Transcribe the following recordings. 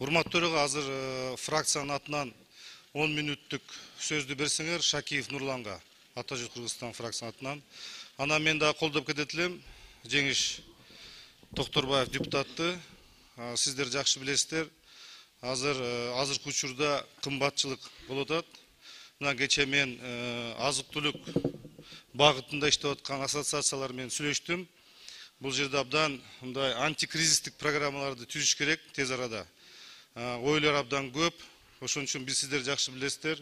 Урматтуу төрага азыр фракциянын атынан 10 мүнөттүк сөздү берсеңер Шакиев Нурланга, Ата Жүз Кыргызстан фракциянын атынан. Анан мен да колдоп кетет элем. Жеңиш Токторбаев депутатты. Сиздер жакшы билесиздер. Азыркы учурда кымбатчылык болуп атат. Мына кече мен азык-түлүк багытында иштеп аткан ассоциациялар менен сүйлөштүм. Бул жерде абдан мындай антикризистик программаларды түзүш керек тез арада. Ойлор абдан көп. Ошон үчүн биз сиздер жакшы билесиздер.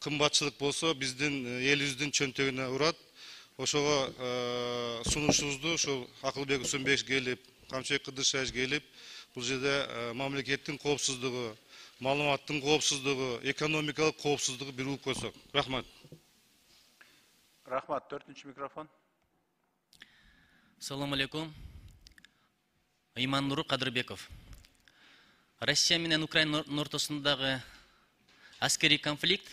Кымбатчылык болсо биздин элибиздин чөнтөгүнө урат. Ошого сунушубузду ошол Акылбек Усунбеков келип, Камчыбек Кыдыршаевич келип, бул жерде мамлекеттин коопсуздугу, маалыматтын коопсуздугу, экономикалык коопсуздугу бир угуп койсок. Рахмат. Рахмат. 4-чү микрофон. Assalamu alaikum. Иман Кадырбеков. Россия менен Украинанын ортосундагы аскерий конфликт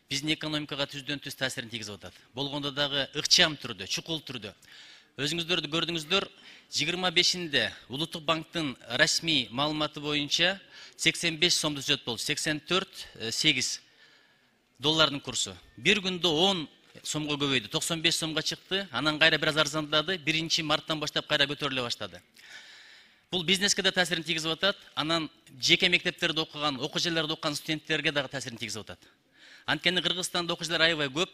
биздин экономикага түздөн-түз таасирин тийгизип атат. Болгондо дагы ыкчам түрдө, чукул түрдө. Өзүңүздөр көрдүңүздөр, 25-inde Улуттук банктын расмий маалыматы боюнча 85 сомду түзөт болду. 84,8 доллардын курсу. Бир күндө 10 сомго көбөйдү. 95 сомго чыкты. Анан кайра бир аз арзандады. 1-марттан баштап кайра көтөрүлө баштады. Бул бизнеске да таасирин тийгизип атат. Анан жеке мектептерде окуган, окуу жайларда окуган студенттерге дагы таасирин тийгизип атат. Анткени Кыргызстанда окуучулар аябай көп,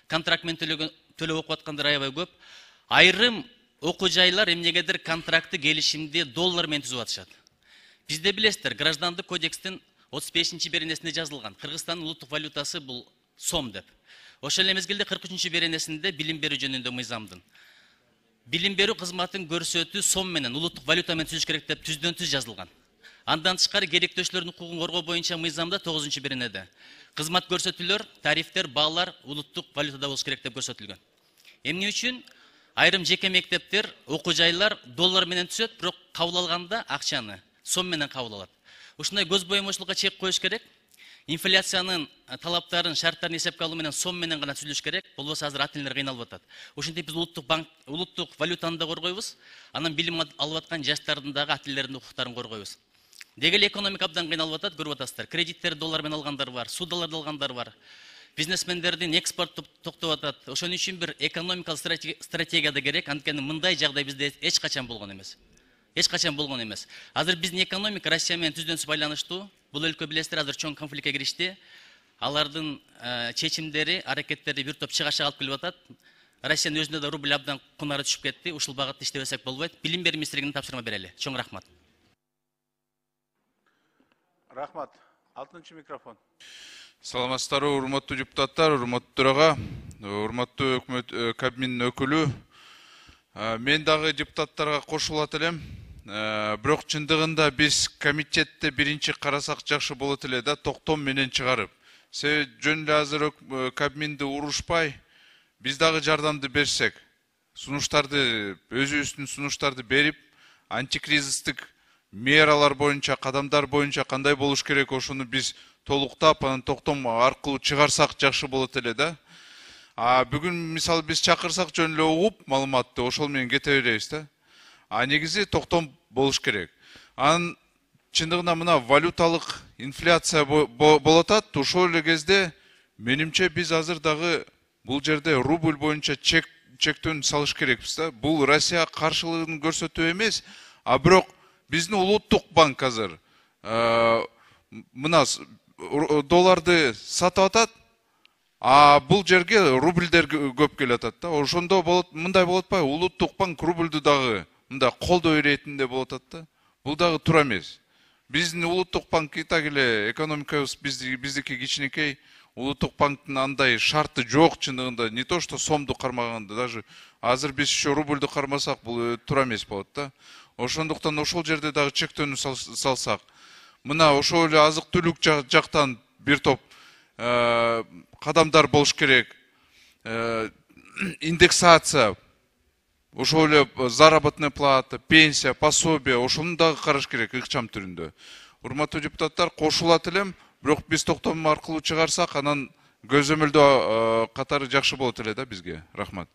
контракт менен төлөп окуп аткандар аябай көп. Айрым окуу жайлар эмнегедир контрактты, келишимди доллар менен түзүп атышат. Бизде билесиздер, граждандык кодекстин 35-беренесинде жазылган. Кыргызстандын улуттук валютасы бул сом деп. Ошол эле мезгилде 43-беренесинде билим берүү жөнүндө мыйзамдын билим берүү кызматын көрсөтүү сом менен, улуттук валюта менен түзүш керек деп түздөн-түз жазылган. Андан тышкары керектөөчүлөрдүн укугун коргоо боюнча мыйзамда 9-беренеде кызмат көрсөтүүлөр, тарифтер, баалар улуттук валютада болуш керек деп көрсөтүлгөн. Эмне үчүн айрым жеке мектептер, окуу жайлар доллар менен түзөт, бирок кабыл алганда акчаны сом менен кабыл алат. Ушундай көз боемочулукка чек коюш керек. Инфляциянын талаптарын, шарттарын эсепке алуу менен сом менен гана түзүлүш керек. Болбосо азыр ата-энелер кыйналып атат. Ошентип биз улуттук валютаны да коргойбуз. Анан билим алып аткан жаштардын дагы ата-энелердин укуктарын коргойбуз. Деги эле экономика абдан кыйналып атат, көрүп атасыздар. Кредиттерди доллар менен алгандар бар, судаларды алгандар бар. Бизнесмендердин экспорт токтоп атат. Ошон үчүн бир экономикалык стратегия да керек. Анткени мындай жагдай бизде эч качан болгон эмес. Эч качан болгон эмес. Азыр биздин экономика Россия менен түздөн-түз байланыштуу. Бул өлкө билесиздер, азыр чоң конфликтке киришти. Алардын чечимдери, аракеттери бир топ чыгашка алып келип атат. Россиянын өзүндө да рубль абдан кунары түшүп кетти. Ушул багытта иштебесек болбойт. Билим берүү министрлигине тапшырма берели. Чоң рахмат. Рахмат. 6-чы микрофон. Саламатсыздарбы, урматтуу депутаттар, урматтуу төрага, урматтуу өкмөт кабинетинин өкүлү. Мен дагы депутаттарга кошулат элем. Бирок чындыгында биз комитетте биринчи карасак жакшы болот эле да, токтом менен чыгарып. Себеби жөн эле азыр кабинетти урушпай, биз дагы жардамды берсек, сунуштарды, өзүбүздүн сунуштарды берип, антикризистик мералар боюнча, кадамдар боюнча кандай болуш керек, ошону биз толуктап, анан токтом аркылуу чыгарсак жакшы болот эле да. Бүгүн мисалы биз чакырсак жөн эле угуп маалыматты, ошол менен кете беребиз да. Негизи токтом болуш керек. Анан чындыгында мына валюталык инфляция болуп атат. Ошол эле кезде менимче биз азыр дагы бул жерде рубль боюнча чектөөнү салыш керекпиз да. Бул Россия каршылыгын көрсөтүү эмес, бирок биздин улуттук банк азыр мына долларды сатып атат, бул жерге рубльдер көп келип атат да. Ошондо болот, мындай болот атпайбы? Улуттук банк рубльду дагы мындай колдоо иретинде болот атат да. Бул дагы туура эмес. Биздин улуттук банк так эле экономикабыз биздики кичинекей, улуттук банктын андай шарты жок чындыгында, не то что сомду кармаганда, даже азыр биз еще рубльду кармасак бул туура эмес болот да. Ошондуктан ошол жерде дагы чектөөнү салсак, мына ошол эле азык-түлүк жактан бир топ кадамдар болуш керек. Индексация, ошол эле заработная плата, пенсия, пособие, ошону дагы караш керек ыкчам түрүндө. Урматтуу депутаттар, кошулат элем, бирок биз токтом аркылуу чыгарсак, анан көзөмөлдөө катары жакшы болот эле да бизге. Рахмат.